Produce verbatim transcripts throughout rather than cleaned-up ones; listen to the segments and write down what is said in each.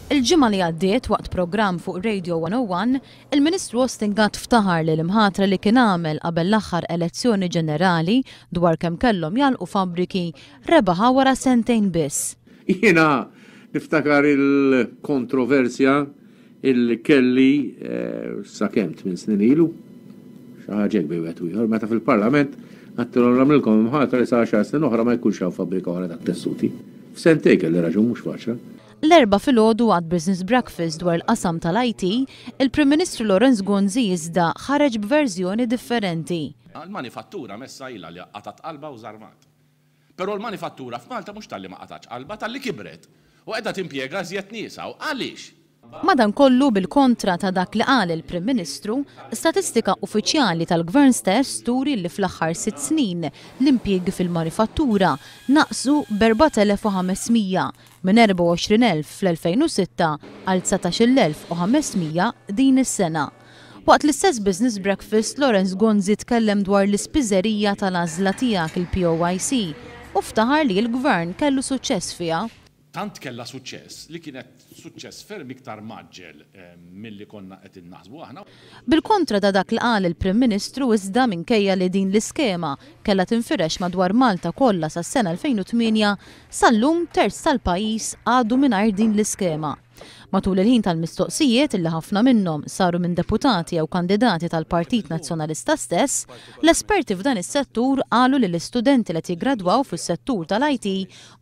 Il-ġimgħa li għaddiet, waqt programm fuq Radio one oh one, il-Ministru Austin Gatt ftaħar li l-imħatra li kien għamel qabel l-aħħar elezzjoni ġenerali dwar kemm kellhom jagħlqu fabbriki rebaħa wara sentejn biss. Jiena niftakar il-kontroversja il kelli eh, sa kemm tmien snin ilu, xi ħaġa hekk bejn wieħed u ieħor, meta fil-Parlament għedtilhom nagħmlilkom imħatra li sa għaxar snin oħra ma jkunx hawn fabbrika oħra tat-tessuti. F'sentejn kelli raġun, mhux faċla. L-Erbgħa filgħodu, għad Business Breakfast dwar il-qasam tal-I T, il-Prim Ministru Lawrence Gonzi iżda ħareġ b'verżjoni differenti. Il-manifattura messha ilha li qatgħet qalbha u żarmat. Però l-manifattura f'Malta mhux talli ma qatgħetx qalbha, talli kibret. U qiegħda timpjega żjed nies. U għaliex? Madankollu, bil-kontra ta' dak li qal il-Prim Ministru, statistika uffiċjali tal-Gvern stess turi li fl-aħħar sitt snin l-impjiegi fil-manifattura naqsu b'erbat elef u ħames mija, minn erbgħa u għoxrin elf fl-elfejn u sitta għal dsatax-il elf u ħames mija din is-sena. Waqt l-istess Business Breakfast, Lawrence Gonzi tkellem dwar l-ispiżerija tal-għażla tiegħek, il-P O Y C, u ftaħar li l-Gvern kellu suċċess fiha. Tant kella suċċess li kienet suċċess ferm iktar mgħaġġel eh, milli konna qed innaħsbu aħna. Bil-kontra ta' dak li qal il-Prim Ministru iżda, minkejja li din l-iskema kellha tinfirex madwar Malta kollha sas-sena elfejn u tmienja, sal-lum terz tal-pajjiż għadu mingħajr din l-iskema. Matul il-ħin tal-mistoqsijiet, illi ħafna minnhom saru minn deputati jew kandidati tal-Partit Nazzjonalista stess, l-esperti f'dan is-settur qalu li l-istudenti li jiggradwaw fis-settur tal-I T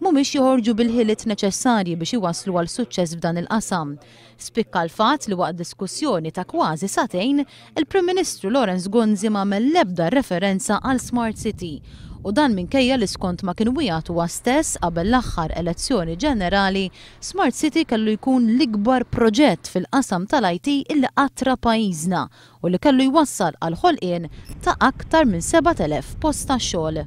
mhumiex joħorġu bil-ħiliet neċessarji biex iwaslu għal suċċess f'dan il-qasam. Spikka l-fatt li waqt diskussjoni ta' kważi sagħtejn, il-Prim Ministru Lawrence Gonzi m'għamel l-ebda referenza għal Smart City, u dan minkejja li skont ma kien wiegħed huwa stess qabel l-aħħar elezzjoni ġenerali, Smart City kellu jkun l-ikbar proġett fil-qasam tal-I T illi qatt ra pajjiżna u li kellu jwassal għal ħolqien ta' aktar minn sebat elef post ta' xogħol.